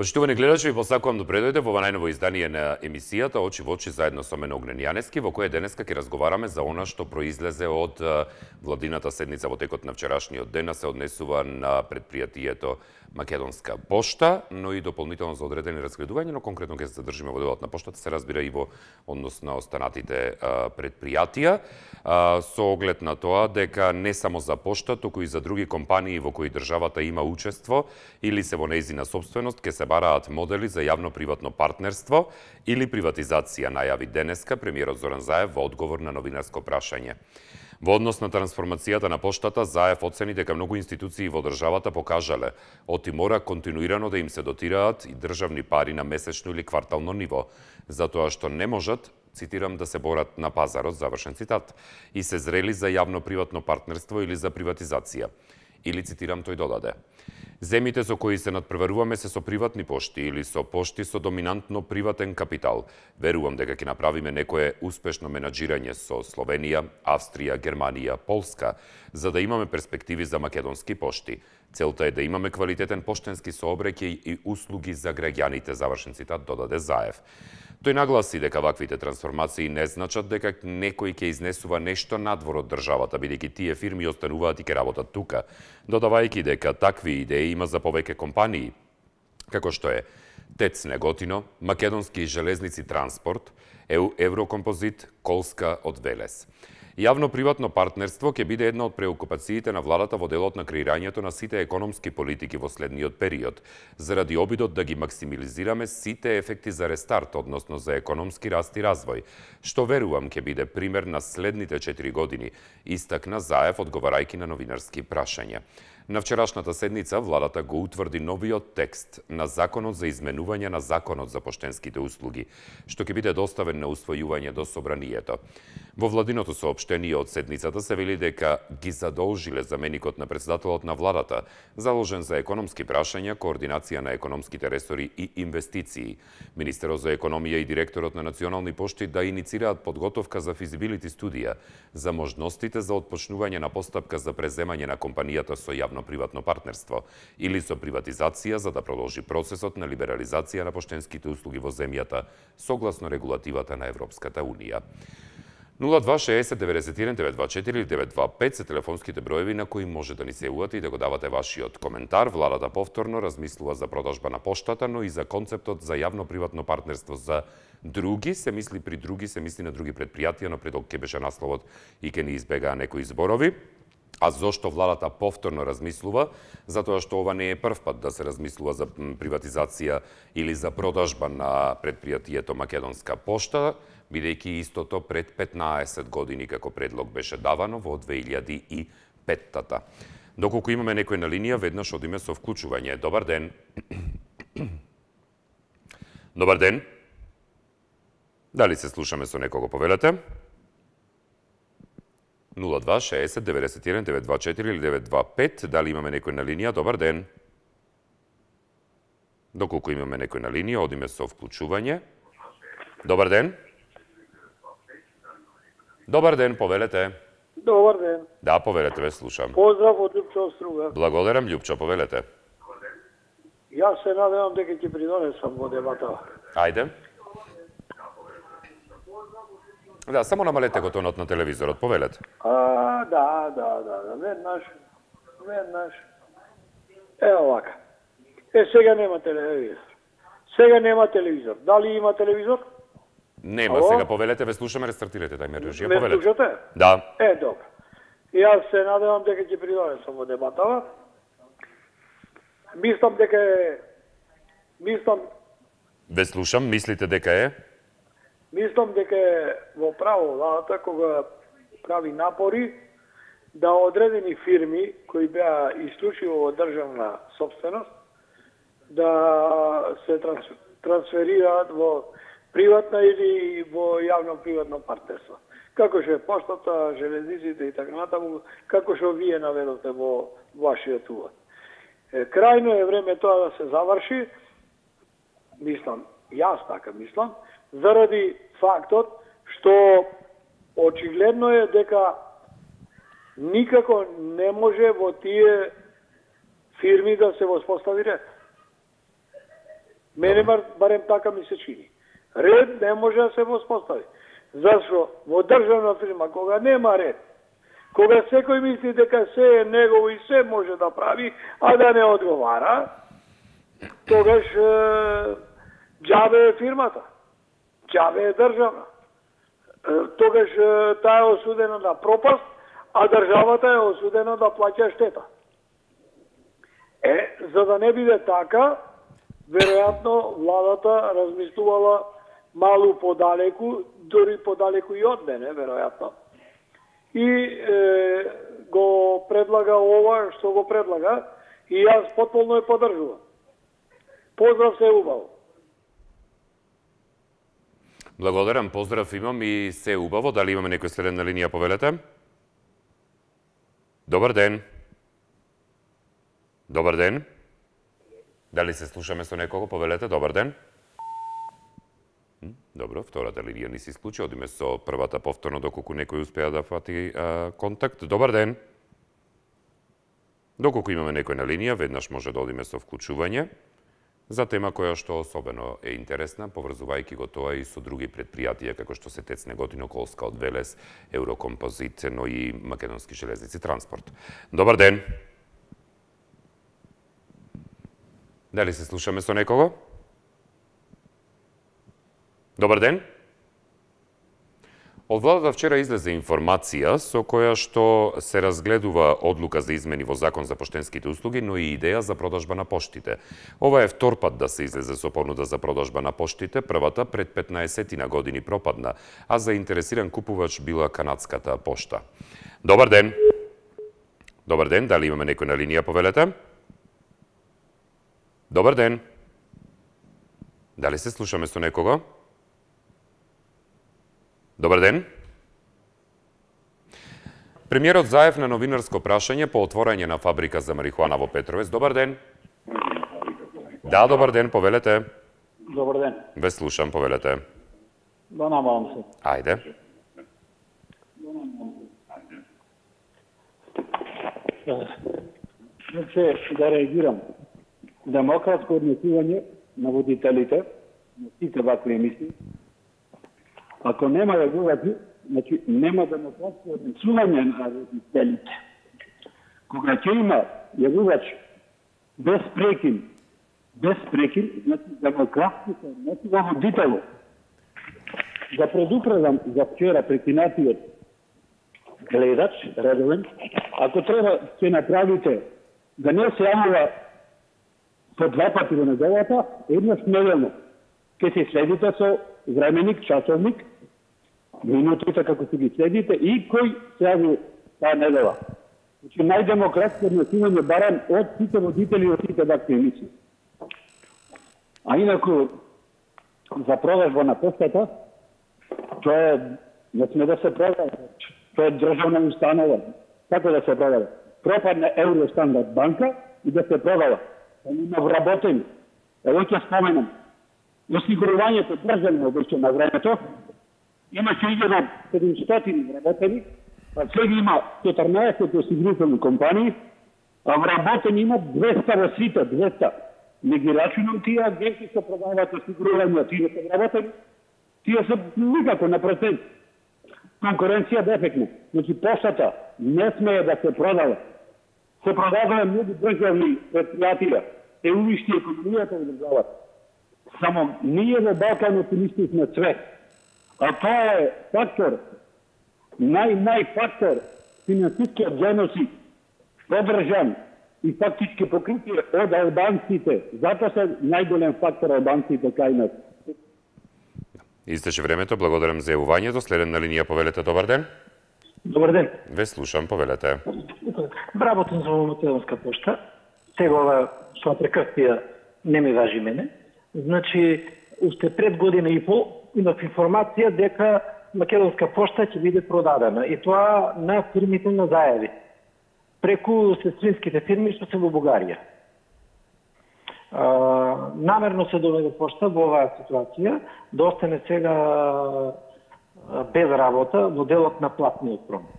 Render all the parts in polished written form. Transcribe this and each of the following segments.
Почитувани гледачи, ви посакувам да дојдете во ова најново издание на емисијата Очи во очи заедно со мене Огнен Јаневски, во која денеска ќе разговараме за она што произлезе од владината седница во текот на вчерашниот ден, се однесува на предпријатието Македонска пошта, но и дополнително за одредени разгледувања, но конкретно ќе се задржиме во делот на поштата, се разбира и во однос на останатите предпријатија, со оглед на тоа дека не само за пошта, туку и за други компании во кои државата има учество или се во нејзина сопственост, ќе се бараат модели за јавно-приватно партнерство или приватизација, најави денеска премиерот Зоран Заев во одговор на новинарско прашање. Во однос на трансформацијата на поштата, Заев оцени дека многу институции во државата покажале оти мора континуирано да им се дотираат и државни пари на месечно или квартално ниво, затоа што не можат, цитирам, да се борат на пазарот, завршен цитат, и се зрели за јавно-приватно партнерство или за приватизација. Или, цитирам, тој додаде: земите со кои се надпреваруваме се со приватни пошти или со пошти со доминантно приватен капитал. Верувам дека ќе направиме некое успешно менаџирање со Словенија, Австрија, Германија, Полска, за да имаме перспективи за македонски пошти. Целта е да имаме квалитетен поштенски сообраќај и услуги за граѓаните, завршен цитат, додаде Заев. Тој нагласи дека ваквите трансформации не значат дека некој ќе изнесува нешто надвор од државата, бидејќи тие фирми остануваат и ќе работат тука, додавајќи дека такви идеи има за повеќе компании, како што е ТЕЦ Неготино, Македонски железници транспорт, Еврокомпозит, Колска од Велес. Јавно-приватно партнерство ќе биде една од преокупациите на владата во делот на креирањето на сите економски политики во следниот период, заради обидот да ги максимализираме сите ефекти за рестарт, односно за економски раст и развој, што верувам ќе биде пример на следните 4 години, истакна Заев одговарајќи на новинарски прашања. На вчерашната седница владата го утврди новиот текст на Законот за изменување на Законот за поштенските услуги, што ќе биде доставен на усвојување до Собранието. Во владиното соопштение од седницата се вели дека ги задолжиле заменикот на председателот на владата, заложен за економски прашања, координација на економските ресори и инвестиции, министерот за економија и директорот на Национални пошти да иницираат подготовка за физибилити студија за можностите за отпочнување на постапка за преземање на компанијата со јавно-приватно партнерство или со приватизација за да продолжи процесот на либерализација на поштенските услуги во земјата согласно регулативата на Европската Унија. 0260-91-924 или 925 се телефонските броеви на кои може да ни се јавувате и да го давате вашиот коментар. Владата повторно размислува за продажба на поштата, но и за концептот за јавно-приватно партнерство за други. Се мисли при други, се мисли на други предпријатија, но предок ќе беше насловот и ќе ни избегаа некои зборови. А зошто владата повторно размислува? Затоа што ова не е прв пат да се размислува за приватизација или за продажба на предпријатието Македонска пошта, бидејќи истото пред 15 години како предлог беше давано во 2005-та. Доколку имаме некој на линија, веднаш одиме со вклучување. Добар ден. Добар ден. Дали се слушаме со некого, повелете? 0260-91-924 или 925. Дали имаме некој на линија? Добар ден. Доколку имаме некој на линија, одиме со вклучување. Добар ден. Добар ден, повелете. Добар ден. Да, повелете, ве слушам. Поздрав од Љупчо Струга. Благодарам, Љупчо, повелете. Јас се надевам дека ќе придонесам во дебата. Ајде. Да, само намалете го тонот на телевизорот, повелете. Да. Веднаш. Ево вака. Сега нема телевизор. Дали има телевизор? Нема, сега повелете, ве слушаме, рестартирате тајмер режија, Ме повелете. слушате? Да. Добро. Јас се надевам дека ќе придонесам во дебатава. Ве слушам, мислите дека е? Мислам дека е во право владата кога прави напори да одредени фирми кои беа исклучиво во државна собственост да се трансферираат во приватна или во јавно-приватно партнерство. Како што е поштата, железниците и така натаму, како што вие наведовте во вашиот увод. Крајно е време тоа да се заврши, јас така мислам, заради фактот што очигледно е дека никако не може во тие фирми да се воспостави ред. Мене барем така ми се чини. Ред не може да се воспостави. Зашто во државна фирма, кога нема ред, кога секој мисли дека се е негово и се може да прави, а да не одговара, тогаш џабе е фирмата, џабе е државна. Тогаш таа е осудена на пропаст, а државата е осудена да плаќа штета. За да не биде така, веројатно владата размислувала малу подалеку, дори подалеку и од мене, веројатно. И го предлага ова што го предлага и јас потполно ја поддржувам. Поздрав, се убаво. Благодарам, поздрав имам и се убаво. Дали имаме некој следен на линија, повелете? Добар ден. Добар ден. Дали се слушаме со некого, повелете? Добар ден. Добро, втората линија ни се исклучи. Одиме со првата повторно доколку некој успеа да фати контакт. Добар ден. Доколку имаме некој на линија, веднаш може да одиме со вклучување за тема која што особено е интересна, поврзувајќи го тоа и со други предпријатија како што се ТЕЦ Неготино, Колска од Велес, Еврокомпозит, но и Македонски железници транспорт. Добар ден. Дали се слушаме со некого? Добар ден. Од владата вчера излезе информација со која што се разгледува одлука за измени во Закон за поштенските услуги, но и идеја за продажба на поштите. Ова е втор пат да се излезе со понуда за продажба на поштите, првата пред 15 години пропадна, а заинтересиран купувач била канадската пошта. Добар ден. Добар ден, дали имаме некој на линија, повелете? Добар ден. Дали се слушаме со некого? Добар ден. Премиерот Заев на новинарско прашање по отворање на фабрика за марихуана во Петровец. Добар ден. Да, добар ден, повелете. Добар ден. Ве слушам, повелете. Да намалам се. Ајде. Да реагирам. Демократско однесување на водителите на сите вакви емисии. Ако нема регулации, значи нема демократско однесување на водителите. Кога ќе има јавувач без прекин, значи демократско се однесува водитело. Да предупредам за вчера прекинатиот гледач, редовен, ако треба ќе направите да не се јавува по 2 пати во неделата, еднаш неделно. Ке се следите со временик, часовник, минутите како се ги следите и кој се јави таа недела. Значи најдемократско однесување барам од сите водители од сите вакви емисии. А инаку за продажба на поштата, тоа е, не сме да се продава, тоа е државна установа. Како да се продава? Пропадне Евростандард банка и да се продава. Има вработени. Ево ќе споменам. Осигурувањето државно беше на времето. Имаше 1700 вработени, а сега има 14 осигурителни компании, а вработени има 200 во сите, 200. Не ги рачунам тие агенти што продаваат осигурувања, тие се вработени. Тие се никако на процент. Конкуренција дефектна. Значи поштата не смее да се продава. Се продаваат многу државни предпријатија, е уништи економијата во државата. Само ние во Балканот уништивме све. А тоа е фактор, најфактор, финансискиот геноцид, одржан и фактички покритие од албанците. Затоа се најголем фактор албанците кај нас. Истече времето, благодарам за јавувањето. Следен на линија, повелете, добар ден. Добар ден. Ве слушам, повелете. Работам за Македонска пошта. Тегова со прекрстија не ми важи мене. Значи, уште пред година и пол имав информација дека Македонска пошта ќе биде продадена. И тоа на фирмите на зајави. Преку сестринските фирми што се во Бугарија. Намерно се доведе пошта во оваа ситуација да остане сега без работа во делот на платниот промет.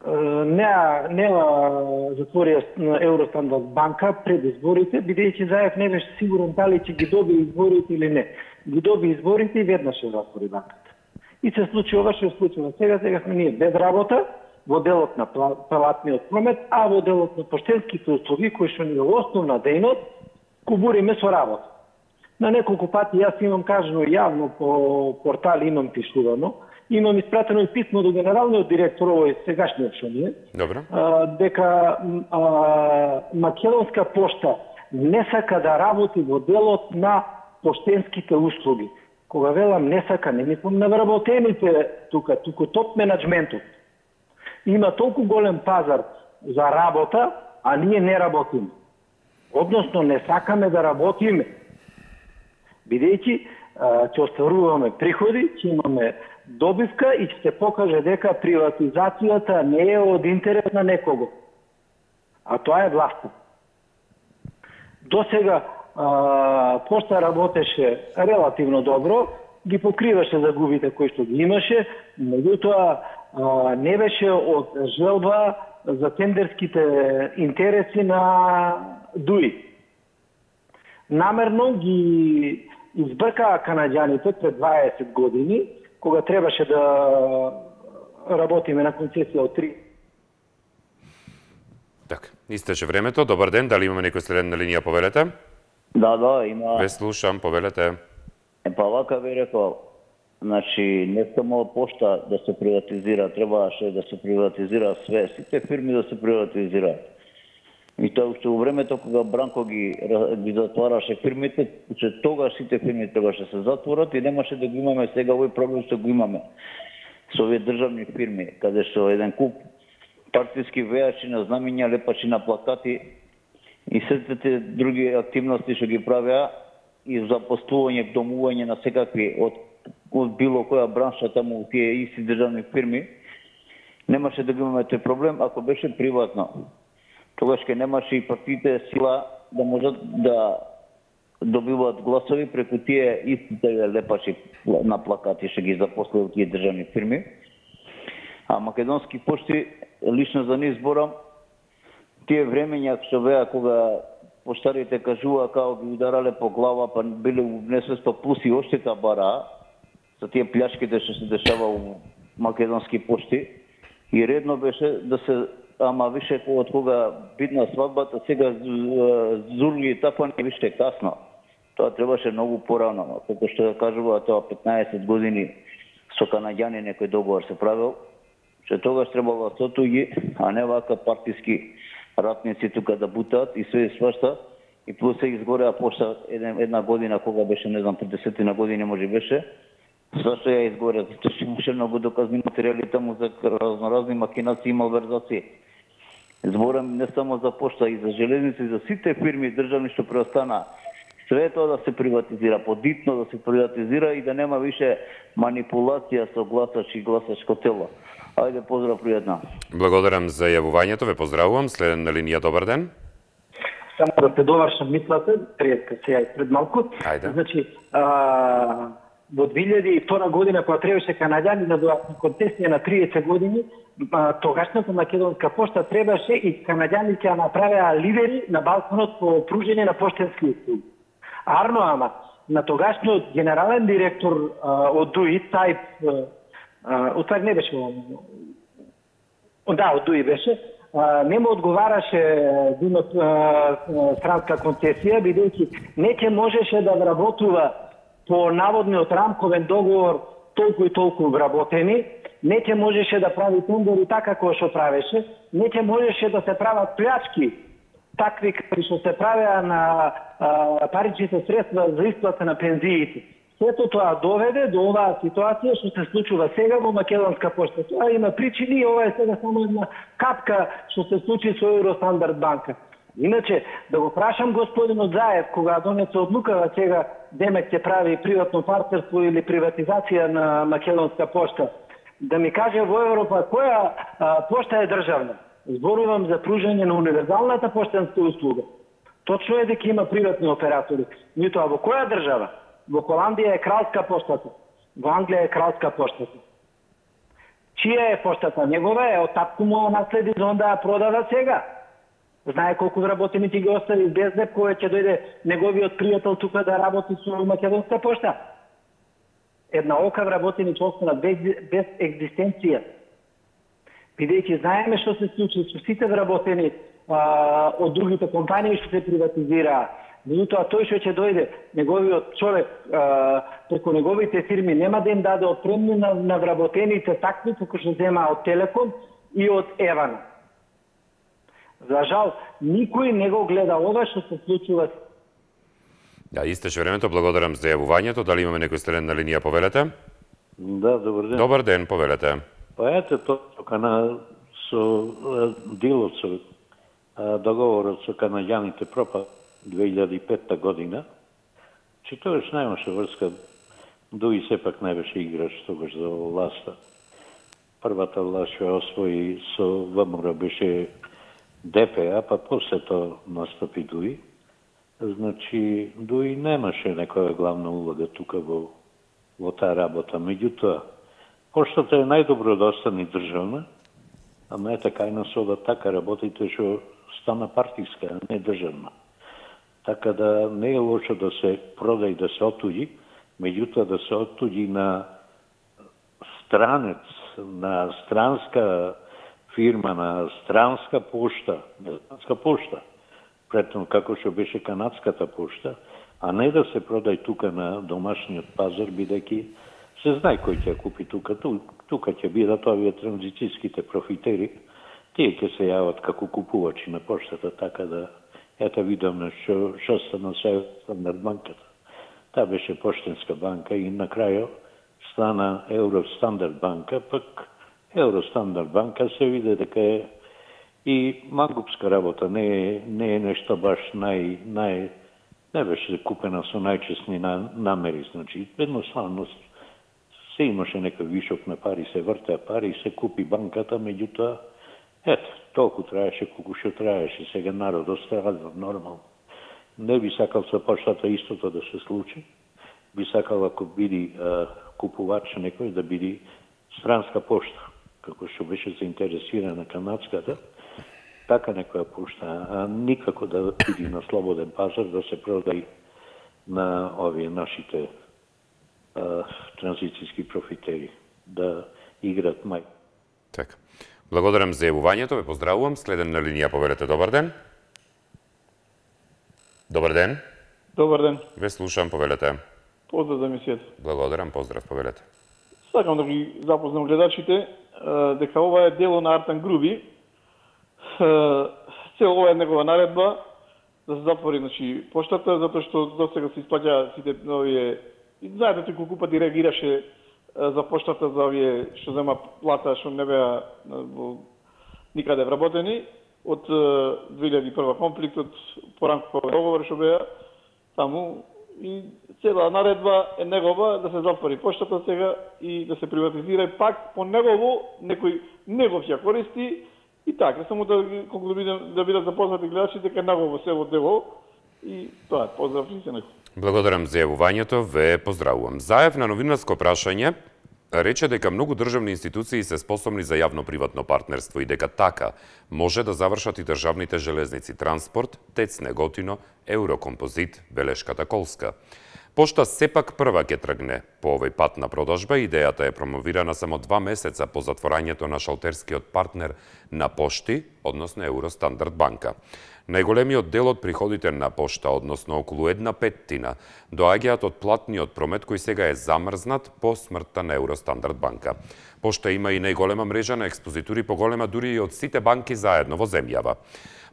не затвори Евростандард банка пред изборите, бидејќи Заев не беше сигурен дали ќе ги доби изборите или не. Ги доби изборите и веднаш ја затвори банката. И се случи ова што се случило. Сега сме ние без работа во делот на платниот промет, а во делот на поштенските услуги, кои што ни е основна дејност, кубуриме со работа. На неколку пати јас имам кажано јавно по портали, имам пишувано, имам испратено и писмо до генералниот директор, овој сегашниот што ни е, дека Македонска пошта не сака да работи во делот на поштенските услуги. Кога велам не сака, не мислам на вработените туку топ менеджментот. Има толку голем пазар за работа, а ние не работиме. Односно не сакаме да работиме. Бидејќи ќе остваруваме приходи, ќе имаме добивка и ќе се покаже дека приватизацијата не е од интерес на некого. А тоа е власта. До сега пошта работеше релативно добро, ги покриваше загубите кои што ги имаше, меѓутоа не беше од желба за тендерските интереси на ДУИ. Намерно ги избркаа канаѓаните пред 20 години, кога требаше да работиме на концесија од 3. Така, истече времето. Добар ден, дали имаме некој следен на линија, повелете? Да, има. Ве слушам, повелете. Па вака би рекол, значи не само пошта да се приватизира, требаше да се приватизира све, сите фирми да се приватизираат. И тоа уште во времето кога Бранко ги затвараше фирмите, че тогаш сите фирми требаше да се затворат и немаше да го имаме сега овој проблем што го имаме со овие државни фирми, каде што еден куп партиски вејачи на знамиња, лепачи на плакати и сите други активности што ги правеа и запослување, домување на секакви од било која бранша таму у тие исти државни фирми, немаше да го имаме тој проблем ако беше приватно. Тогаш ке немаше и партиите сила да можат да добиваат гласови преку тие истите лепачи на плакати што ги запослуват тие државни фирми. А Македонски пошти, лично за нив зборам, тие времења што беа кога поштарите кажува као ги ударале по глава, па биле у несвеста плюс и оштета бара за тие плячките што се дешава у Македонски пошти. И редно беше да се, ама више од кога бидна свадбата, сега зурги и тапани више касно. Тоа требаше многу порано, како што кажува тоа 15 години со канаѓани некој договор се правил, че тогаш требало сотуги, а не вака партиски ратници тука да бутаат и све свашта. И плюс се изгореа пошта една година, кога беше, не знам, 50 на години може беше. Зашто ја изгореа? Зашто што имаше многу доказни материјали таму за разноразни макинации и малверзации. Зборам не само за пошта, и за железници, и за сите фирми државни што преостана. Све тоа да се приватизира, подитно да се приватизира и да нема више манипулација со гласач и гласачко тело. Ајде, поздрав, пријатно. Благодарам за јавувањето, ве поздравувам. Следен на линија, добар ден. Само да те довршам мислата, пријатка сега и пред малку. Ајде. Значи, во 2002 година, кога требаше канаѓани да дојдат на концесија на 30 години, тогашната Македонска пошта требаше и канаѓаните ја направеа лидери на балконот по пружење на поштенски услуги. Арно, ама, на тогашниот генерален директор од ДУИ, не беше од ДУИ беше, не му одговараше странска концесија, бидејќи не ќе можеше да вработува по наводниот рамковен договор толку и толку вработени, не ќе можеше да прави тендери така како што правеше, не ќе можеше да се прават плячки такви како што се правеа на паричните средства за исплата на пензиите. Сето тоа доведе до оваа ситуација што се случува сега во Македонска пошта. Тоа има причини и ова е сега само една капка што се случи со Евростандард банка. Иначе, да го прашам господинот Заев, кога донесе одлукава сега Демек ќе прави приватно партнерство или приватизација на Македонска пошта, да ми каже во Европа која пошта е државна. Зборувам за пружање на универзалната поштенска услуга. Точно е дека има приватни оператори. Меѓутоа во која држава? Во Холандија е кралска поштата. Во Англија е кралска поштата. Чија е поштата? Негова е, од татко му наследи, за онда ја продава сега. Знае колку вработени ќе ги остави без деп, кој ќе дојде неговиот пријател тука да работи со македонска пошта. Една ока вработени ќе останат без екзистенција. Бидејќи знаеме што се случи со сите вработени од другите компании што се приватизираа. Меѓутоа тој што ќе дојде, неговиот човек преку неговите фирми нема да им даде отпремни на вработените такви како што зема од Телеком и од Евана. За жал, никој не го гледа ова што се случува. Да, истече времето, благодарам за јавувањето. Дали имаме некој стелен на линија, повелете? Да, добар ден. Добар ден, повелете. Па ете тоа со дилот со договорот со канаѓаните пропа 2005 година, че тогаш немаше врска, Дуи сепак не беше играч тогаш за власта. Првата власт што освои со ВМРО беше ДПА, па после тоа настапи Дуи. Значи, Дуи немаше некоја главна улога тука во таа работа. Меѓутоа, поштата е најдобро да остане државна, ама ете кај нас ова така работите што стана партиска, а не државна. Така да не е лошо да се прода и да се отуѓи, меѓутоа да се отуѓи на странец, на странска фирма, на странска пошта, претно како што беше канадската пошта, а не да се продај тука на домашниот пазар, бидејќи се знае кој ќе купи тука. Тука ќе бидат овие транзицијските профитери, тие ќе се јават како купувачи на поштата, така да ето видовме што стана со Стандард банката. Таа беше поштенска банка и на крајот стана Евростандард банка, пак Евростандард банка се виде дека е и мангупска работа, не е нешто баш не беше купена со најчесни намери, значи едноставно се имаше некој вишок на пари, се вртеа пари, се купи банката, меѓутоа ето, толку траеше колку што траеше, сега народот страдува нормално. Не би сакал со поштата истото да се случи, би сакал ако биде купувач некој да биде странска пошта, како што беше заинтересирана канадската, така некоја пошта, а никако да биде на слободен пазар да се продај на овие нашите транзицијски профитери, да играт мај. Така. Благодарам за јавувањето, ве поздравувам. Следен на линија, повелете, добар ден. Добар ден. Добар ден. Ве слушам, повелете. Поздрав за емисијата. Благодарам, поздрав, повелете. Сакам да ги запознам гледачите дека ова е дело на Артан Груби. Цел ова е негова наредба да се затвори, значи, поштата, затоа што досега се исплаќа сите овие. И знаете колку пати реагираше за поштата, за овие што зема плата, што не беа никаде вработени од 2001 конфликтот, поранкови договори што беа таму, и цела наредба е негова да се затвори поштата сега и да се приватизира, и пак по негово некој негов ќе користи, и така, само да колку да бидат запознати гледачите дека негово се во дело, и тоа е, поздрав и се некој. Благодарам за јавувањето, ве поздравувам. Заев на новинарско прашање рече дека многу државни институции се способни за јавно-приватно партнерство и дека така може да завршат и државните железници, транспорт, ТЕЦ Неготино, Еврокомпозит, Белешката Колска. Пошта сепак прва ќе тргне по овој пат на продажба. Идејата е промовирана само 2 месеца по затворањето на шалтерскиот партнер на пошти, односно Евростандард банка. Најголемиот дел од приходите на пошта, односно околу 1/5, доаѓаат од платниот промет кој сега е замрзнат по смртта на Евростандард банка. Пошта има и најголема мрежа на експозитури, поголема дури и од сите банки заедно во земјава.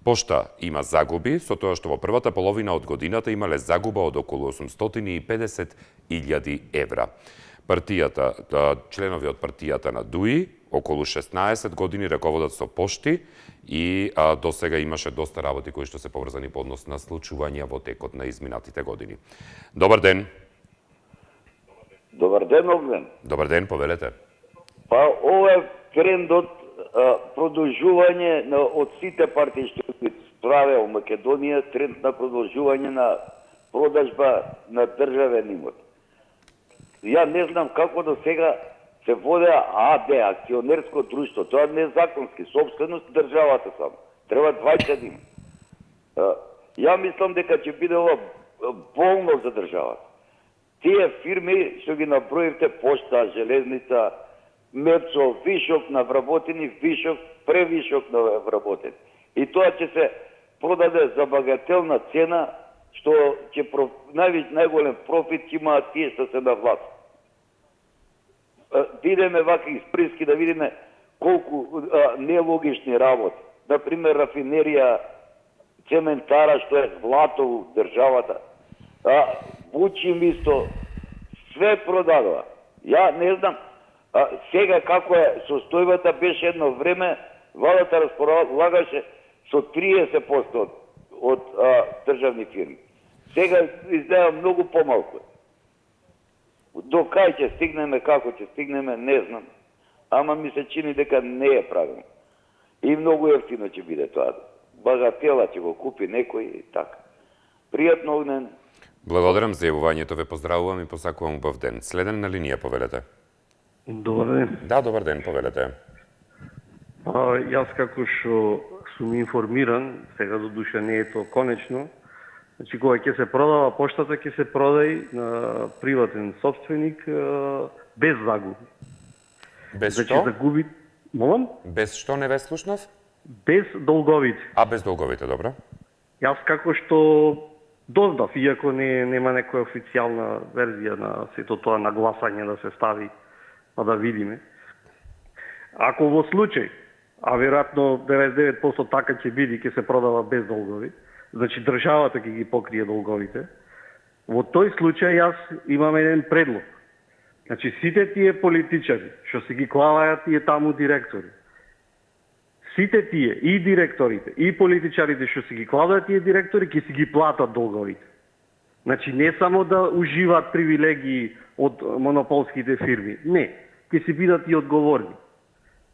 Пошта има загуби, со тоа што во првата половина од годината имале загуба од околу 850.000 евра. Членови од партијата на Дуи околу 16 години раководат со пошти и до сега имаше доста работи кои што се поврзани по однос на случувања во текот на изминатите години. Добар ден. Добар ден, Огнен. Добар ден, повелете. Па, ова е трендот продолжување од сите партии што ги праве во Македонија, тренд на продолжување на продажба на државен имот. Ја не знам како до сега се водеа АД, акционерско друштво, тоа не е законски, собственост државата само. Треба 20 дни. Ја мислам дека ќе биде ова болно за државата. Тие фирми што ги наброивте, Пошта, Железница, Мецо, вишок на вработени, вишок, превишок на вработени. И тоа ќе се продаде за багателна цена, што ќе најголем профит ќе имаат тие што се на власт. Видиме вака исприски да видиме колку нелогични работи. Например, рафинерија, цементара што е злато у државата. Бучим исто, све продадува. Ја не знам, сега како е состојбата, беше едно време, владата располагаше со 30% од државни фирми. Сега изгледа многу помалку. До кај ќе стигнеме, како ќе стигнеме, не знам. Ама ми се чини дека не е правилно. И многу ефтино ќе биде тоа. Багатела ќе го купи некој и така. Пријатно, Огнен. Благодарам за јавувањето, ве поздравувам и посакувам убав ден. Следен на линија, повелете. Добар ден. Да, добар ден, повелете. Јас како што сум информиран, сега до душа не е тоа конечно, значи кога ќе се продава поштата, ќе се продај на приватен собственик без загуби. Без значи, што? Загуби... Молам? Без што не ве слушнав? Без долговите. Без долговите, добро. Јас како што дознав, иако нема некоја официјална верзија на сето тоа нагласање да се стави, па да видиме. Ако во случај, а веројатно 99% така ќе биде, ќе се продава без долгови, значи државата ќе ги покрие долговите, во тој случај јас имам еден предлог. Значи сите тие политичари што се ги клаваат тие таму директори, сите тие и директорите и политичарите што се ги клаваат тие директори ќе си ги платат долговите. Значи не само да уживаат привилегии од монополските фирми, не, ќе си бидат и одговорни.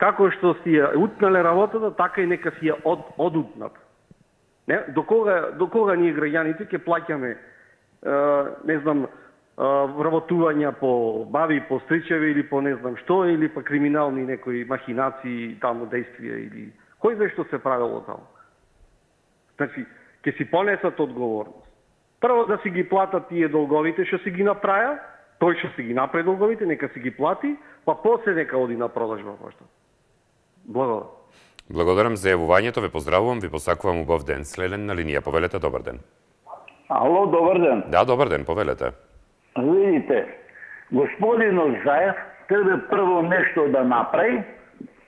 Како што си ја утнале работата, така и нека си ја одутнат. До кога ние граѓаните ќе плаќаме, не знам, вработувања по баби, по стричеви или по не знам што, или па криминални некои махинации, таму действија, или кој знае што се правило таму. Значи, ќе си понесат одговорност. Прво да си ги платат тие долговите што си ги направи, тој што си ги направи долговите, нека си ги плати, па после нека оди на продажба пошта. Благодарам. Благодарам за јавувањето, ве поздравувам, ви посакувам убав ден. Следен на линија, повелете, добар ден. Ало, добар ден. Да, добар ден, повелете. Видите, господинот Заев треба прво нешто да направи.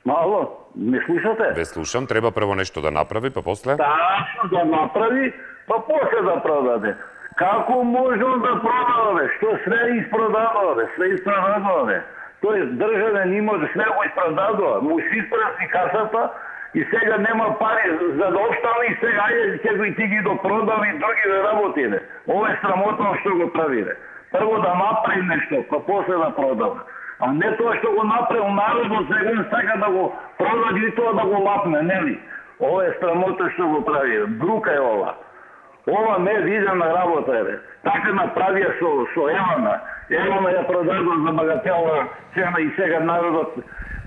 Ало, ме слушате? Ве слушам, треба прво нешто да направи, па после? Да направи, па после да продаде. Како можем да продаваме? Што све испродаваме? Све испродаваме. Тоест, државен имот све го испродадува, му си испраси касата и сега нема пари за да остане и сега ќе ти ги допродава и други да работиме. Ова е срамотно што го правиме. Прво да направи нешто, па после да продава. А не тоа што го направил народот, сега сака да го продаде и тоа да го лапне, нели? Ова е срамотно што го правиме. Брука е ова. Ова не видена работа е. Така направија со Евана. Евана ја продадува за багателна цена и сега народот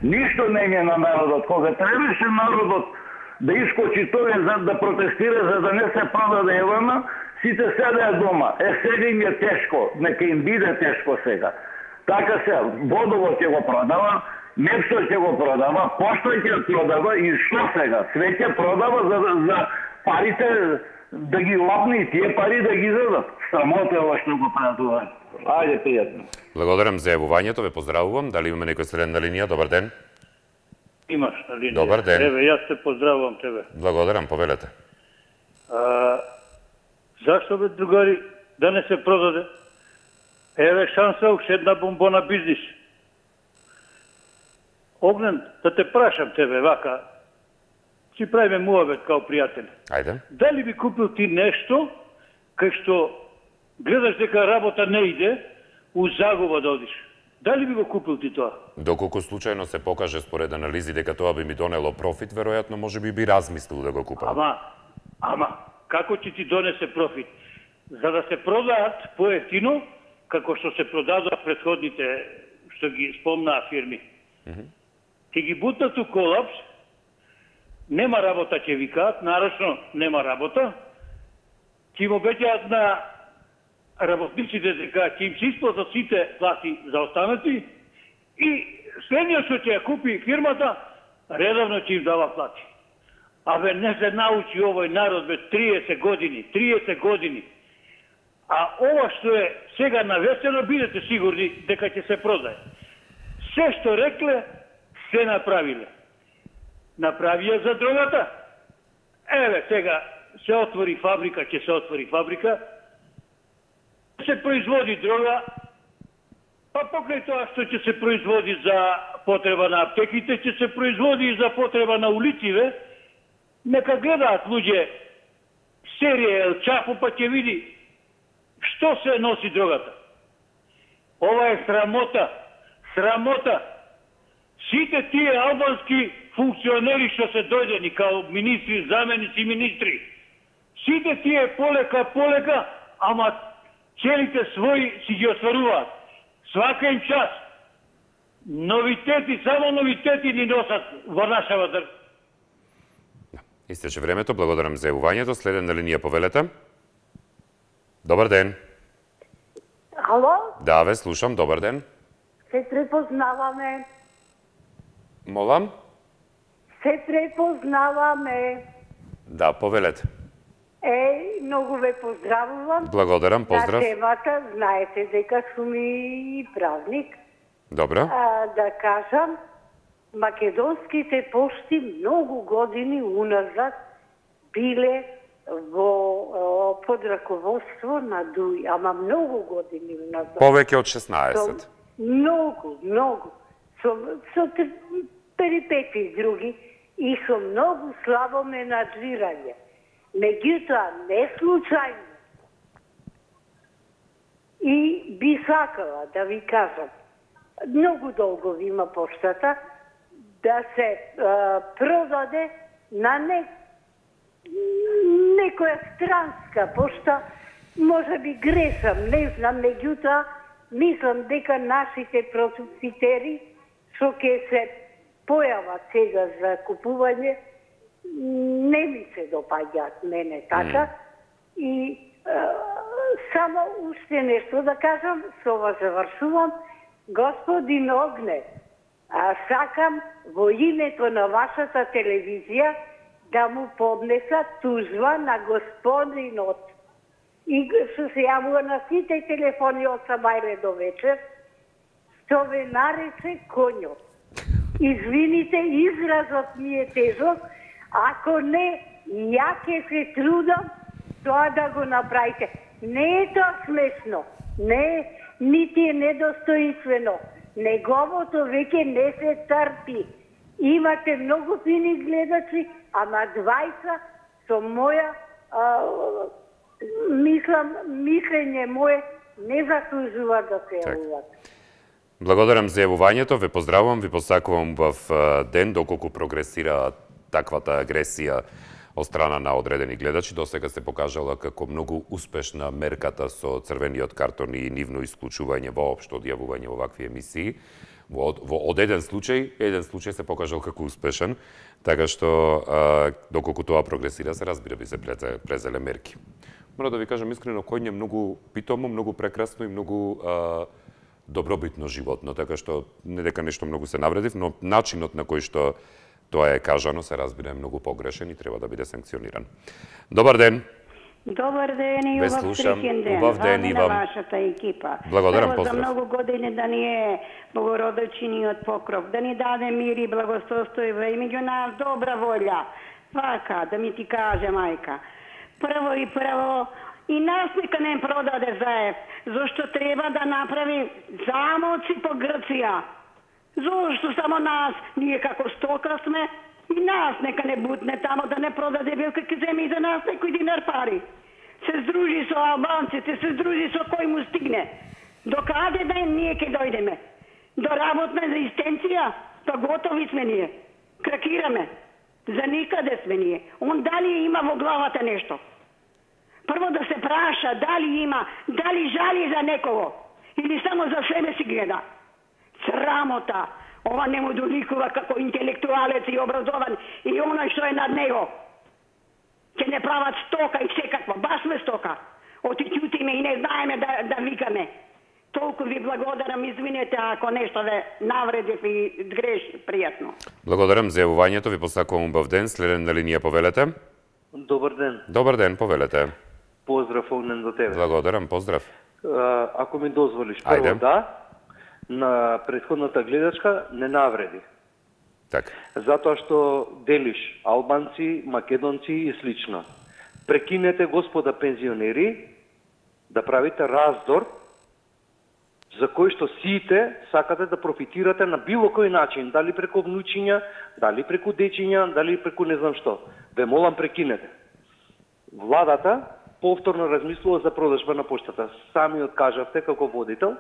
ништо не е на народот. Кога требаше народот да искочи тоа за да протестира за да не се продаде Евана, сите седеа дома. Сега им е тешко, нека им биде тешко сега. Така се, водовод ќе го продава, Мепсо ќе го продава, Пошта ќе продава и што сега? Све ќе продава за парите да ги лапне и тие пари да ги дадат. Срамота е ова што го прават. Ајде, пријатно. Благодарам за јавувањето, ве поздравувам. Дали имаме некој следен на линија? Добар ден. Имаш на линија. Добар ден. Еве, јас те поздравувам тебе. Благодарам, повелете. Зашто бе, другари, да не се продаде? Еве шанса, уште една бомбона бизнис. Огнен, да те прашам тебе, вака, си правиме муабет као пријатели. Ајде. Дали би купил ти нешто, кај што гледаш дека работа не иде, у загуба да одиш? Дали би го купил ти тоа? Доколку случајно се покаже според анализи дека тоа би ми донело профит, веројатно можеби би размислил да го купам. Ама, како ќе ти донесе профит? За да се продаат поевтино, како што се продадоа предходните што ги спомнаа фирми. Ќе ги бутнат у колапс, нема работа, ќе викаат, нарочно нема работа, ќе им обеќаат на работниците дека ќе им се исплатат сите плати за останати и следниот што ќе ја купи фирмата, редовно ќе им дава плати. Абе, не се научи овој народ, бе, 30 години. А ова што е сега навесено, бидете сигурни дека ќе се продае. Се што рекле, се направиле. Направија за дрогата. Еве, сега се отвори фабрика, ќе се отвори фабрика, се производи дрога, па покрај тоа што ќе се производи за потреба на аптеките, ќе се производи и за потреба на улициве. Нека гледаат луѓе серија Ел Чапо, па ќе види што се носи дрогата. Ова е срамота. Срамота. Сите тие албански функционери што се дојдени као министри, заменици министри, сите тие полека, ама целите своји си ги остваруваат. Свака им час. Новитети, само новитети ни носат во нашава држава. Истече времето, благодарам за јавувањето. Следен на линија повелете. Добар ден. Ало? Да, ве слушам, добар ден. Се препознаваме. Молам? Се препознаваме. Да, повелете. Многу ве поздравувам. Благодарам, поздрав. На темата, знаете дека сум и правник. Добро. Да кажам, македонските пошти многу години уназад биле во под раководство на ДУИ, ама многу години уназад. Повеќе од 16. Многу. Со перипети други и со многу слабо менаджирање. Меѓутоа, не случајно. И би сакала да ви кажам, многу долго ви има поштата, да се продаде на некоја странска пошта, може би грешам, не знам, меѓутоа, мислам дека нашите продуцитери, што ќе се појават сега за купување, не ми се допаѓаат мене така. И само уште нешто да кажам, со ова завршувам. Господин Огне, сакам во името на вашата телевизија да му поднесат тужба на господинот и што се јавува на сите телефони од сабајле до вечер, што ве нарече конјот. Извините, изразот ми е тежок, ако не, ја ќе се трудам тоа да го направите. Не е тоа смешно, не, нити е недостоинствено. Неговото веќе не се трпи. Имате многу фини гледачи, ама 20 со моја, мислење мое не заслужува да се јавуват. Благодарам за јавувањето, ве поздравувам, ви посакувам в ден доколку прогресира таквата агресија од страна на одредени гледачи. Досега се покажала како многу успешна мерката со црвениот картон и нивно исклучување воопшто од јавување во вакви емисии. Од еден случај се покажал како успешен, така што доколку тоа прогресира, се разбира би се презеле мерки. Мора да ви кажам искрено, коњ е многу питомо, многу прекрасно и многу добробитно животно, така што не дека нешто многу се навредив, но начинот на кој што тоа е кажано се разбира е многу погрешен и треба да биде санкциониран. Добар ден. Добар ден и убав среќен ден. Убав ден и вам. Вашата екипа. Благодарам, поздрав. За многу години да ни е Богородичниот покров, да ни даде мир и благосостојба и меѓу нас добра волја. Вака, да ми ти каже, мајка. Прво, и нас нека не продаде заев, зашто треба да направи замоци по Грција. Зошто само нас, ние како стока сме, и нас нека не бутне тамо да не продаде билка ке земи и за нас некој динар пари. Се здружи со албанците, се здружи со кој му стигне. До каде да ние ке дојдеме? До работна резистенција? Па готови сме ние. Кракираме. За никаде сме ние. Он дали има во главата нешто? Прво да се праша дали има, дали жали за некого или само за себе си гледа. Срамота. Ова не му доликува како интелектуалец и образован и оној што е над него. Ќе не прават стока и секаква. Баш сме стока. Оти ќутиме и не знаеме да викаме. Толку ви благодарам, извинете ако нешто ве навредив и греши, пријатно. Благодарам за јавувањето, ви посакувам убав ден. Следен на линија, повелете. Добар ден. Добар ден, повелете. Поздрав огнен до тебе. Благодарам, поздрав. Ако ми дозволиш, прво да, на претходната гледачка не навреди. Така. Затоа што делиш албанци, македонци и слично. Прекинете, господа пензионери, да правите раздор за кој што сите сакате да профитирате на било кој начин, дали преку внучиња, дали преку дечиња, дали преку не знам што. Ве молам, прекинете. Владата повторно размислува за продажба на поштата. Сами откажавте како водител,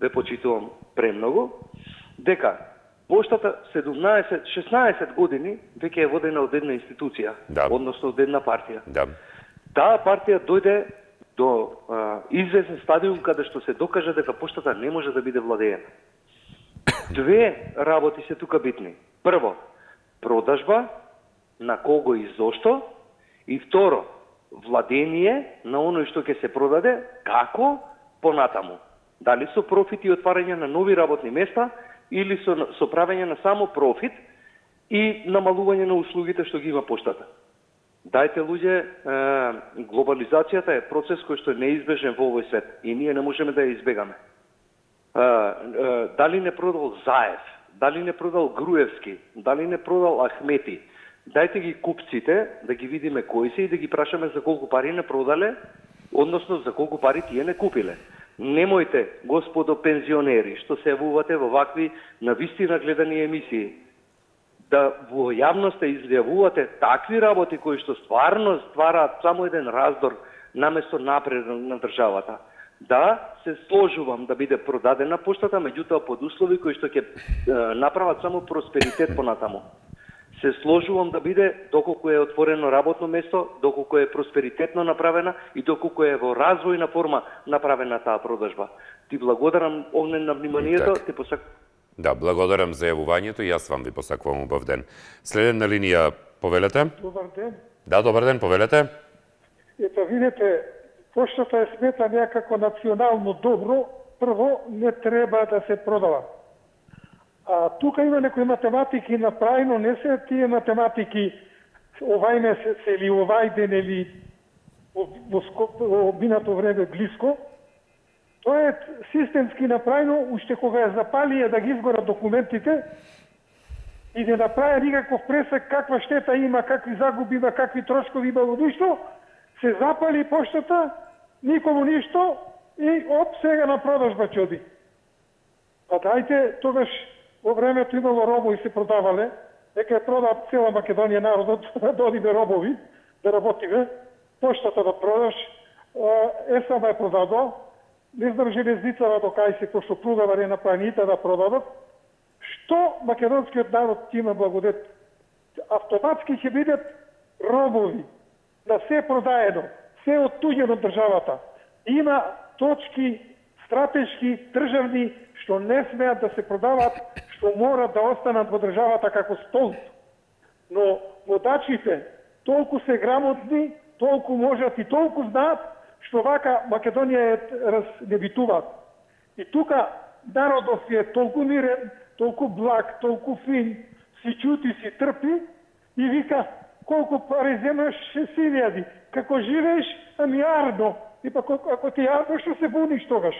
ве почитувам премногу, дека поштата 16 години веќе е водена од една институција, односно од една партија. Таа партија дојде до известен стадиум каде што се докажа дека поштата не може да биде владеена. Две работи се тука битни. Прво, продажба, на кого и зошто, и второ, владение на оној што ќе се продаде, како понатаму. Дали со профит и отварање на нови работни места, или со правење на само профит и намалување на услугите што ги има поштата. Дајте, луѓе, глобализацијата е процес кој што е неизбежен во овој свет и ние не можеме да ја избегаме. Дали не продал Заев, дали не продал Груевски, дали не продал Ахмети, дајте ги купците, да ги видиме кои се и да ги прашаме за колку пари не продале, односно за колку пари тие не купиле. Немојте, господо пензионери, што се јавувате во вакви навистина гледани емисии, да во јавноста изјавувате такви работи кои што стварно ствараат само еден раздор наместо напред на државата. Да, се сложувам да биде продадена поштата, меѓутоа под услови кои што ќе направат само просперитет понатаму. Се сложувам да биде доколку е отворено работно место, доколку е просперитетно направена и доколку е во развојна форма направена таа продажба. Ти благодарам, огнен, на вниманието, ти Да, благодарам за јавувањето и јас вам ви посакувам убав ден. Следен на линија, повелете. Добар ден. Да, добар ден, повелете. Ето, видите, поштата е смета некако национално добро, прво не треба да се продава. А тука има некои математики направено, не се тие математики овај месец или овај ден или во минато време близко. Тоа е системски направено, уште кога ја запалија да ги изгорат документите и не направи никаков пресек каква штета има, какви загуби има, какви трошкови има во ништо, се запали поштата, никому ништо и од сега на продажба ќе оди. Па дајте, тогаш во времето имало робови се продавале, нека ја продаат цела Македонија народот, да одиме робови, да работиме, поштата да продаш, ЕСАМ е продадо, не знам железницава до кај се, кој што продава не направи да продадат, што македонскиот народ има благодет? Автоматски ќе бидат робови, на се продаено, се оттуѓено државата. Има точки стратешки, државни, што не смеат да се продават, што морат да останат во државата како столб. Но водачите толку се грамотни, толку можат и толку знаат, што вака Македонија е разнебитуваат. И тука народот е толку мирен, толку благ, толку фин, си чути, си трпи и вика, колку пари земаш, 6.000. Како живееш, ами јарно. И па ако ти јарно, што се буниш тогаш?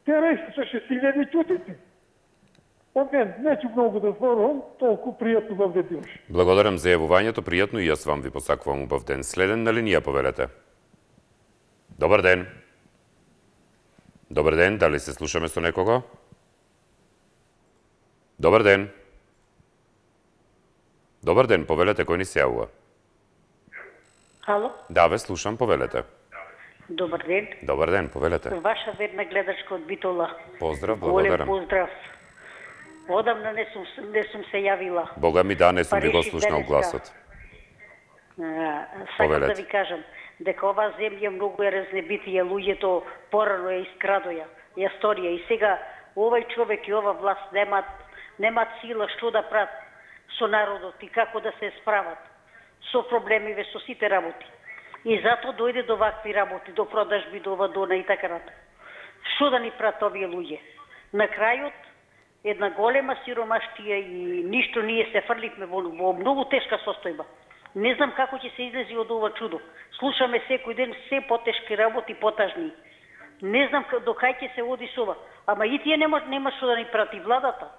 Те рече со 6.000 чутици. Оген, неќу многу да зборувам, толку пријатно да вдедимаш. Благодарам за јавувањето, пријатно и јас вам ви посакувам убав ден. Следен на линија, повелете. Добар ден. Добар ден, дали се слушаме со некого? Добар ден. Добар ден, повелете, кој ни се јавува? Ало? Да, ве слушам, повелете. Добар ден. Добар ден, повелете. Ваша верна гледачка од Битола. Поздрав, благодарам. Голем поздрав. Одамна не сум се јавила. Бога ми да, не сум ви го слушнал гласот. Сакам да ви кажам дека оваа земја многу е разнебитија, луѓето порано ја искрадоја, ја сторија и сега овај човек и ова власт немаат сила што да прават со народот и како да се справат со проблемиве, со сите работи. И затоа дојде до вакви работи, до продажби, до ова, до она и така натаму. Што да ни прават овие луѓе? На крајот, една голема сиромаштија и ништо ние се фрликме во многу тешка состојба. Не знам како ќе се излези од ова чудо. Слушаме секој ден се потешки работи, потажни. Не знам до кај ќе се оди со ова. Ама и тие нема што да ни прати владата.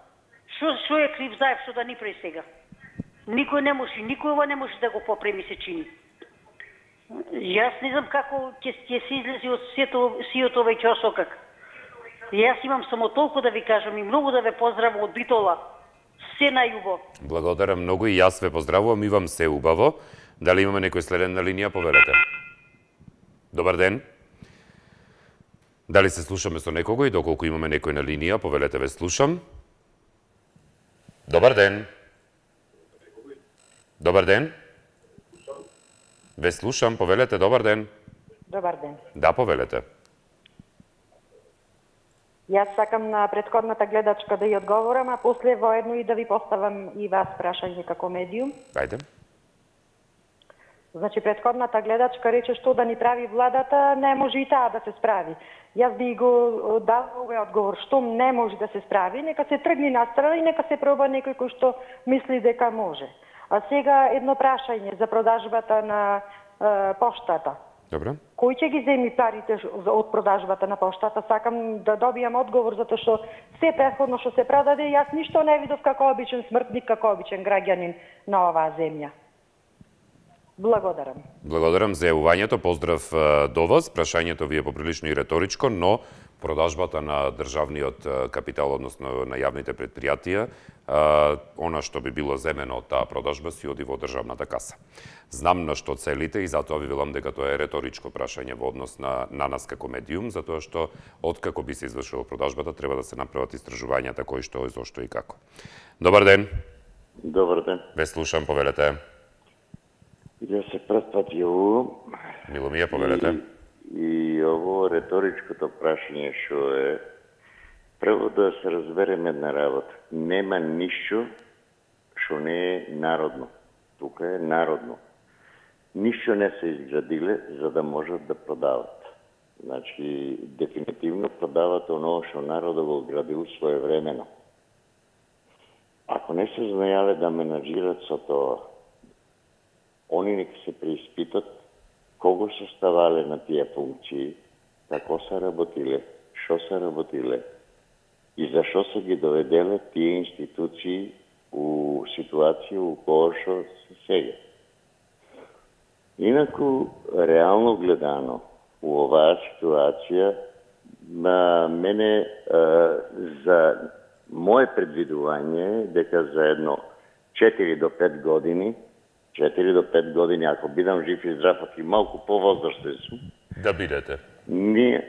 Што е крив Заев што да ни прави сега? Никој не може, никој ова не може да го попреми, се чини. Јас не знам како ќе се излези од сиот овај ќосокак. Јас имам само толку да ви кажам и многу да ве поздравам од Битола. Се најубаво. Благодарам многу и јас ве поздравувам и вам се убаво. Дали имаме некој следен на линија, повелете. Добар ден. Дали се слушаме со некого и доколку имаме некој на линија, повелете, ве слушам. Добар ден. Добар ден. Ве слушам, повелете, добар ден. Добар ден. Да, повелете. Јас сакам на претходната гледачка да ја одговорам, а после воедно и да ви поставам и вас прашање како медиум. Ајде. Значи, претходната гледачка рече што да ни прави владата, не може и таа да се справи. Јас би го дал овој одговор, што не може да се справи, нека се тргни настрана и нека се проба некој кој што мисли дека може. А сега едно прашање за продажбата на поштата. Добро. Кој ќе ги земи парите од продажбата на поштата? Сакам да добијам одговор, затоа што се претходно што се продаде, јас ништо не видов како обичен смртник, како обичен граѓанин на оваа земја. Благодарам. Благодарам за јавувањето, поздрав до вас. Прашањето ви е поприлично и реторичко, но продажбата на државниот капитал, односно на јавните предпријатија, она што би било земено од таа продажба си оди во државната каса. Знам на што целите и затоа ви велам дека тоа е реторичко прашање во однос на нас како медиум, затоа што откако би се извршила продажбата треба да се направат истражувањата кои што, зошто и како. Добар ден. Добар ден. Ве слушам, повелете. Ја се прв јавувам. Мило ми е, повелете. И ово реторичкото прашање што е прво да се разбереме една работа. Нема ништо што не е народно. Тука е народно. Ништо не се изградиле за да можат да продават. Значи, дефинитивно продават оно што народот го градил своевремено. Ако не се знаеле да менаџират со тоа, они нека се преиспитат кого се ставале на тие функции, како се работиле, што се работиле и зашо се ги доведеле тие институции у ситуација у која што се сега. Инаку, реално гледано, у оваа ситуација, мене за моје предвидување дека за едно 4 до 5 години, 4 до 5 години, ако бидам жив и здрав, и малку повозрастен сум, да бидете. Ние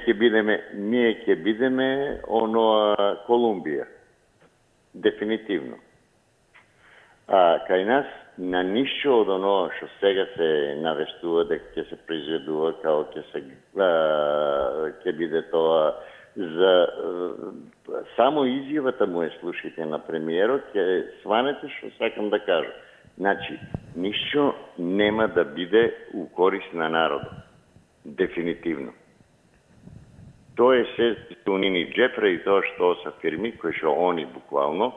ќе бидеме оноа Колумбија. Дефинитивно. А кај нас на ништо од оно што сега се навестува дека ќе се произведува како ќе биде тоа за само изјавата му слушајте на премиерот, ќе сванете што сакам да кажам. Значи, ништо нема да биде у корист на народот. Дефинитивно. Тоа е се тунини джепре и тоа што се фирми, кои што они буквално,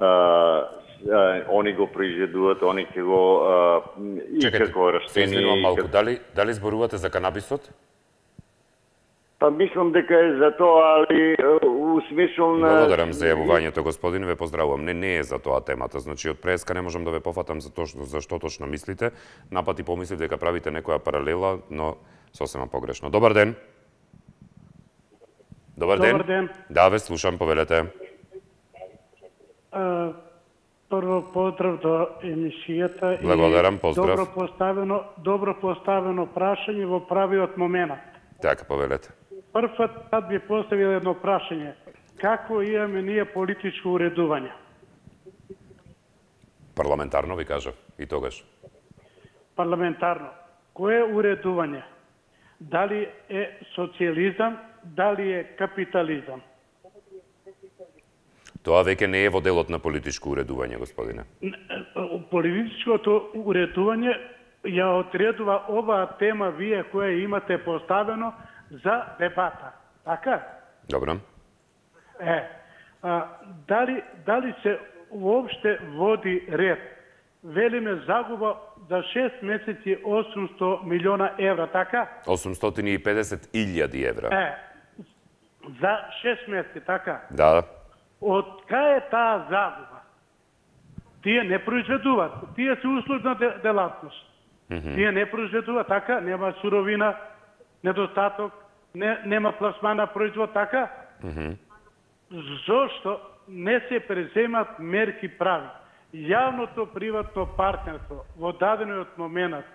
они го произведуваат, они ќе го и како растение. Чекайте, малку. Дали зборувате за канабисот? Па мислам дека е за тоа, али у смисол на... Благодарам за јавувањето, господин, ве поздравувам. Не е за тоа темата. Значи, од преска не можам да ве пофатам за што точно мислите. Напати помислив дека правите некоја паралела, но сосема погрешно. Добар ден. Добар ден. Добар ден. Да, ве слушам, повелете. Прво поздрав до емисијата. Благодарам, поздрав. Добро поставено прашање во правиот момент. Така, повелете. Првпат пат би поставил едно прашање. Какво имаме ние политичко уредување? Парламентарно ви кажав и тогаш. Парламентарно. Кое е уредување? Дали е социјализам, дали е капитализам? Тоа веќе не е во делот на политичко уредување, господине. Политичкото уредување ја отредува оваа тема вие која имате поставено за дебата. Така? Добро. Дали се уопште води ред? Велиме загуба за 6 месеци 800 милиона евра, така? 850.000 евра. За 6 месеци, така? Да. Од кај е таа загуба? Тие не произведуваат. Тие се услужна делатност. Тие не произведуваат, така? Нема суровина, недостаток, нема пласмана производ, така? Зошто не се преземат мерки прави? Јавното приватно партнерство во дадениот момент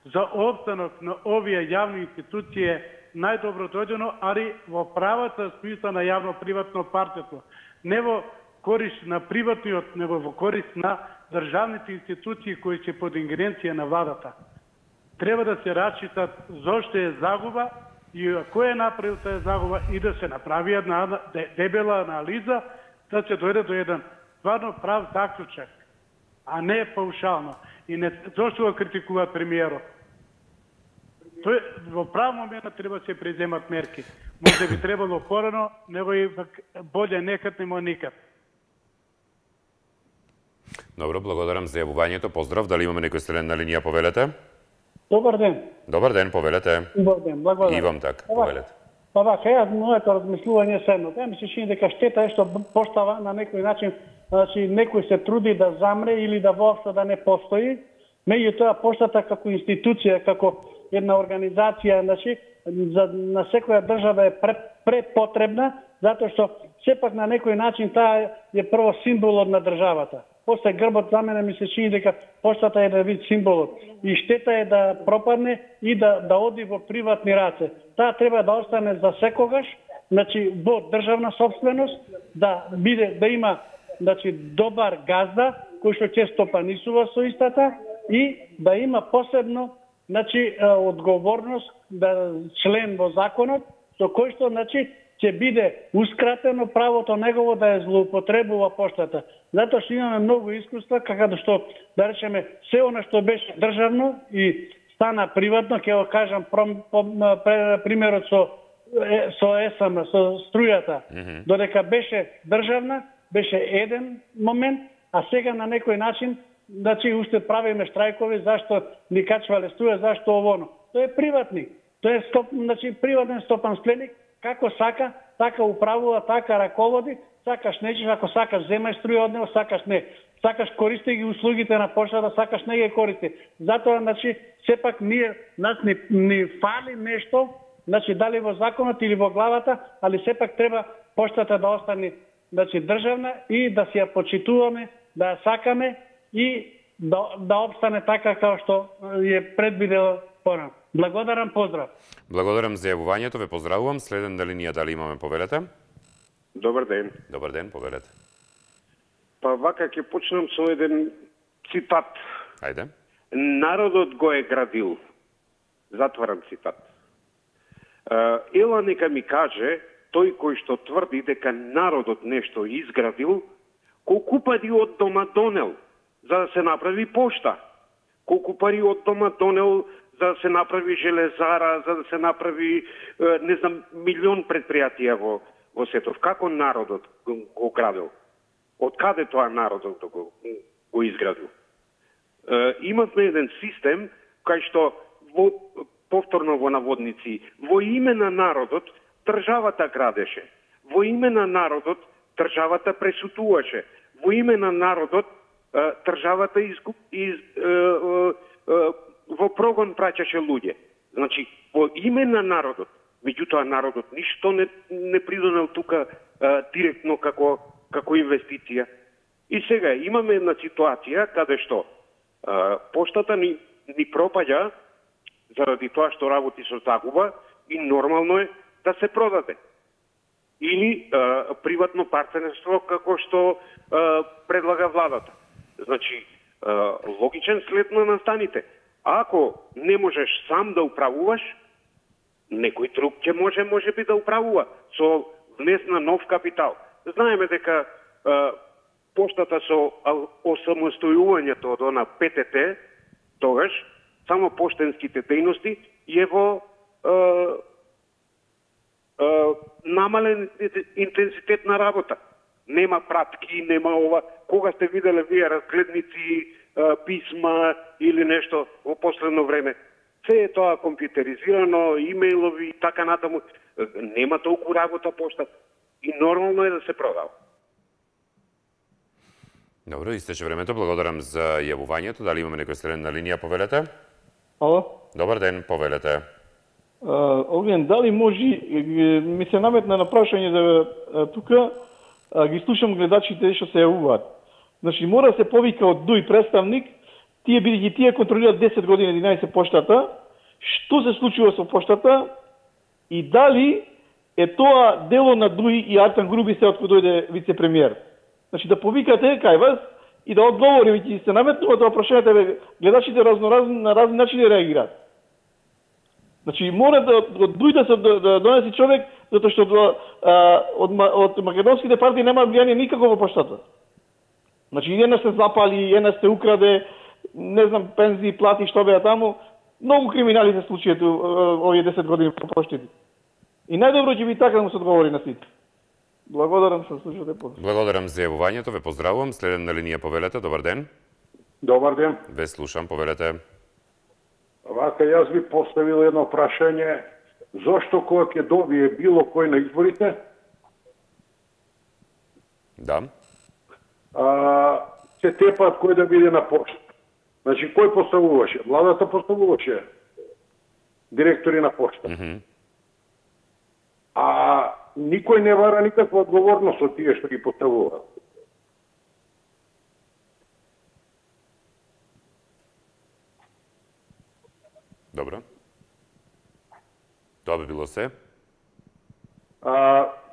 за опстанок на овие јавни институции е најдобро дојдено, али во правата смисла на јавно приватно партнерство. Не во корист на приватниот, него во корист на државните институции кои се под ингеренција на владата. Треба да се рачитат зошто е загуба и кој е направил таа загуба и да се направи една дебела анализа, да се дојде до еден стварно прав заклучок, а не паушално. И не зошто го критикува премиерот. Тој во прав момент треба да се преземат мерки. Може би требало порано, него и боле некад немо никад. Добро, благодарам за јавувањето. Поздрав, дали имаме некој стрелен на линија, повелете? Добар ден. Добар ден, повелете. Добар ден, благодарам. И вам така, повелете. Па вака, моето размислување е следно. Ми се чини дека штета е што поштава на некој начин, значи некој се труди да замре или да воопшто да не постои. Меѓутоа поштата како институција, како една организација, значи на секоја држава е препотребна, затоа што сепак на некој начин таа е прво символот на државата. После грбот за мене ми се чини дека поштата е да вид символот. И штета е да пропадне и да оди во приватни раце. Таа треба да остане за секогаш, значи во државна собственост, да има значи добар газда кој што ќе стопанисува со истата и да има посебно значи одговорност да член во законот со кој што значи ќе биде ускратено правото негово да ја злоупотребува поштата. Затоа што имаме многу искуства, како што, да речеме, се она што беше државно и стана приватно, ќе го кажам примерот со ЕСМ, со струјата. Додека беше државна, беше еден момент, а сега на некој начин, значи, уште правиме штрајкови, зашто ни качвале струја, зашто овоно. Тој е приватник. Тој е значи, приватен стопанственик, како сака, така управува, така раководи, сакаш нечеш, ако сакаш земај струја од него, сакаш не. Сакаш користи ги услугите на поштата, сакаш не ги користи. Затоа, значи, сепак нас ни фали нешто, значи, дали во законот или во главата, али сепак треба поштата да остане, значи, државна и да си ја почитуваме, да ја сакаме и да обстане така како што е предвидело порано. Благодарам, поздрав. Благодарам за јавувањето, ве поздравувам. Следен на линија, дали имаме, повелете? Добар ден. Добар ден, повелете. Па вака ќе почнам со еден цитат. Ајде. Народот го е градил. Затварам цитат. Ела нека ми каже тој кој што тврди дека народот нешто изградил, колку пари од дома донел за да се направи пошта, колку пари од дома донел за да се направи железара, за да се направи, не знам, милион предпријатија во светот. Како народот го градил? Од каде тоа народот го изградил? Имавме еден систем кај што, повторно во наводници, во име на народот државата градеше. Во име на народот државата пресутуваше. Во име на народот државата во прогон праќаше луѓе. Значи, во име на народот, меѓутоа народот ништо не придонел тука директно како инвестиција. И сега имаме една ситуација каде што поштата ни пропаѓа заради тоа што работи со загуба и нормално е да се продаде. Или приватно партнерство како што предлага владата. Значи, логичен след на настаните. Ако не можеш сам да управуваш, некој друг ќе може би да управува со внес на нов капитал. Знаеме дека поштата со осамостојувањето од она ПТТ, тогаш, само поштенските дејности, и ево намален интензитет на работа. Нема пратки, нема ова. Кога сте виделе вие разгледници, писма или нешто во последно време? Се е тоа компјутеризирано, имејлови и така натаму. Нема толку работа пошта и нормално е да се продава. Добро, истече времето. Благодарам за јавувањето. Дали имаме некој следен на линија, повелете? Ало? Добар ден, повелете. Оглен, дали може, ми се наметна на прашање да тука, ги слушам гледачите што се јавуваат. Значи, мора да се повика од ДУИ представник, тие бидејќи тие контролираат 10 години 11 поштата, што се случува со поштата и дали е тоа дело на ДУИ и Артан Груби се откако дојде вице-премиер. Значи, да повикате кај вас и да одговори, веќе се наметнува тоа прашањето, гледачите на разни начини реагираат. Значи, мора да дојде да донеси човек, затоа што од македонските партии нема влијание никако во поштата. Значи, една се запали, една се украде, не знам, пензии, плати, што беа таму. Многу криминали се случијат овие 10 години по поштите. И најдобро ќе би така да му се одговори на сите. Благодарам што слушате по. Благодарам за јавувањето, ве поздравувам. Следен на линија, повелете. Добар ден. Добар ден. Ве слушам, повелете. Вака, јас би поставил едно прашање. Зошто кога ќе добие било кој на изборите? Да. Се тепаат кој да биде на пошта. Значи, кој поставуваше? Владата поставуваше директори на пошта. А никој не вара никаква одговорност од тие што ги поставуваат. Добро. Тоа би било се.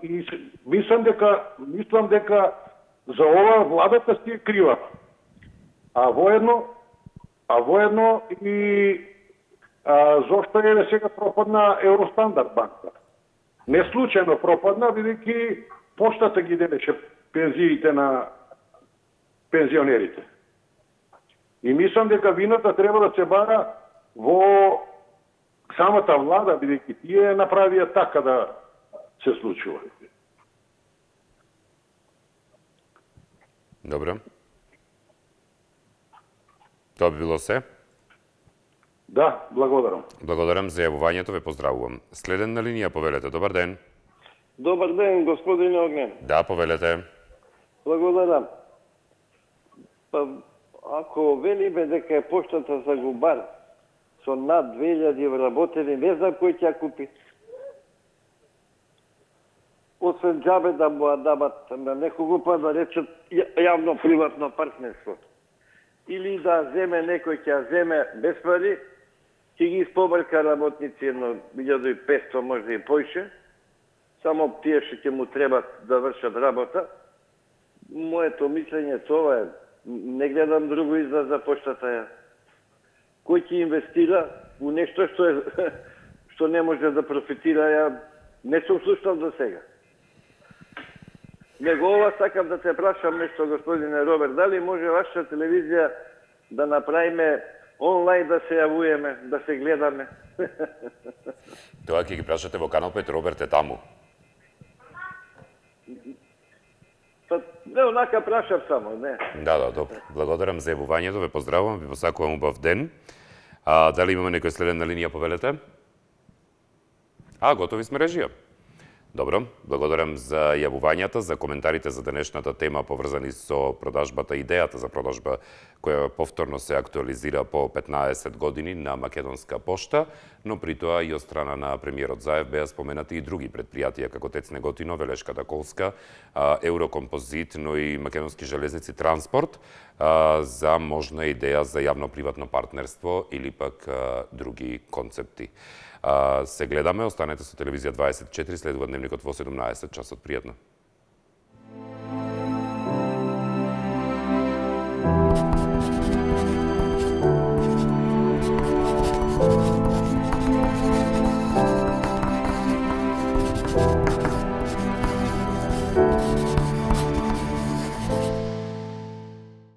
И мислам дека за ова владата си е крива. А воедно и зошто е сега пропадна Евростандард банка. Не случајно пропадна, бидејќи поштата ги делеше пензиите на пензионерите. И мислам дека вината треба да се бара во самата влада, бидејќи тие направија така да се случува. Добро. Тоа би било се? Да, благодарам. Благодарам за јавувањето, ве поздравувам. Следен на линија, повелете. Добар ден. Добар ден, господин Огнен. Да, повелете. Благодарам. Па, ако велиме дека е поштата за губар со над 2000 вработени, не знам кој ќе купи. Освен џабе да му дамат на некого па да речат јавно-приватно партнерство. Или да земе некој ќе земе без пари, ќе ги испобрка работници едно 1500, може и поише, само тие што ќе му требат да вршат работа. Моето мислење тоа е, не гледам друго излаз за поштата. Кој ќе инвестира у нешто што не може да профитира, ја не сум слушнал до сега. Него ова сакам да те прашам нешто, господине Роберт, дали може вашата телевизија да направиме онлайн да се јавуеме, да се гледаме? Тоа ќе ги прашате во Канал 5, Роберт е таму. Па, не, онака прашав само, не. Да, добро. Благодарам за јавувањето, ве поздравувам, ви посакувам убав ден. Дали имаме некој следен на линија, повелете? Готови сме, режија. Добро, благодарам за јавувањата, за коментарите за денешната тема поврзани со продажбата, идејата за продажба која повторно се актуализира по 15 години на Македонска пошта, но при тоа и од страна на премиерот Заев беа споменати и други предпријатија како ТЕЦ Неготино, Велешката Колска, Еврокомпозит, но и Македонски железници Транспорт за можна идеја за јавно-приватно партнерство или пак други концепти. Се гледаме, останете со телевизија 24, следува дневникот во 17 часот. Пријатно.